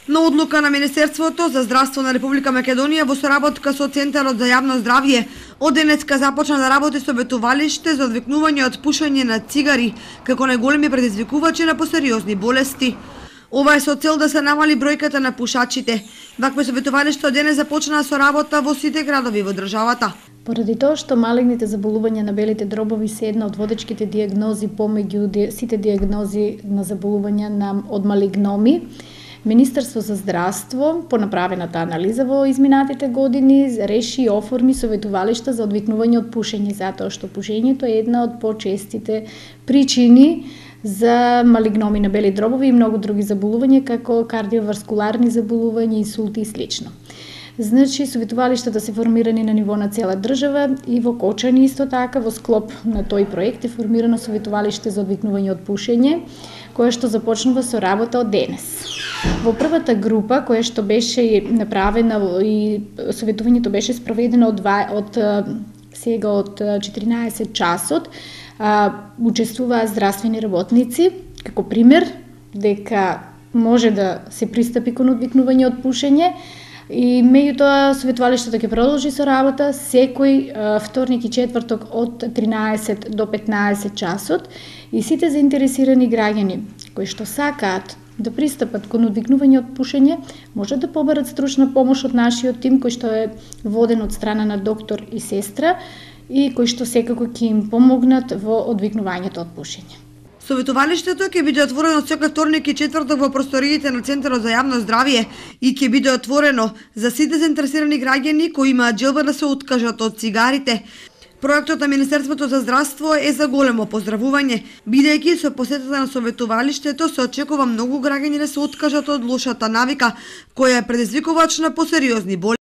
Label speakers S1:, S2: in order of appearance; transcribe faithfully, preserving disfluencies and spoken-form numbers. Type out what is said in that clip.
S1: На одлука на Министерството за здравство на Република Македонија во соработка со Центарот за јавно здравје, од денеска започна да работи советувалиште за одвикнување од пушење на цигари како најголеми предизвикувачи на посериозни болести. Ова е со цел да се намали бројката на пушачите. Вакво советувалиште од денес започна со работа во сите градови во државата.
S2: Поради тоа што малигните заболувања на белите дробови се една од водечките дијагнози помеѓу сите дијагнози на заболувања на од малигноми, Министерство за здравство, по направената анализа во изминатите години, реши и оформи советувалишта за одвикнување од пушење, затоа што пушењето е една од почестите причини за малигноми на бели дробови и многу други заболувања, како кардиоваскуларни заболувања, инсулти и слично. Значи, советувалиштата се формирани на ниво на цела држава и во Кочани исто така, во склоп на тој проект е формирано советувалиште за одвикнување од пушење, кое што започнува со работа од денес. Во првата група, која што беше направена и советувањето беше спроведено од, од сега од четиринаесет часот, учествуваат здравствени работници, како пример дека може да се пристапи кон одвикнување од пушење. И меѓутоа советувалиштето ќе продолжи со работа секој вторник и четврток од тринаесет до петнаесет часот и сите заинтересирани граѓани кои што сакаат да пристапат кон одвикнување од пушење може да побарат стручна помош од нашиот тим кој што е воден од страна на доктор и сестра и кои што секако ќе им помогнат во одвикнувањето од пушење.
S1: Советувалиштето ќе биде отворено секој вторник и четврток во просториите на Центарот за јавно здравје и ќе биде отворено за сите заинтересирани граѓани кои имаат желба да се откажат од цигарите. Проектот на Министерството за здравство е за големо поздравување, бидејќи со посетата на советувалиштето се очекува многу граѓани да се откажат од лошата навика, која е предизвикувач на посериозни болести.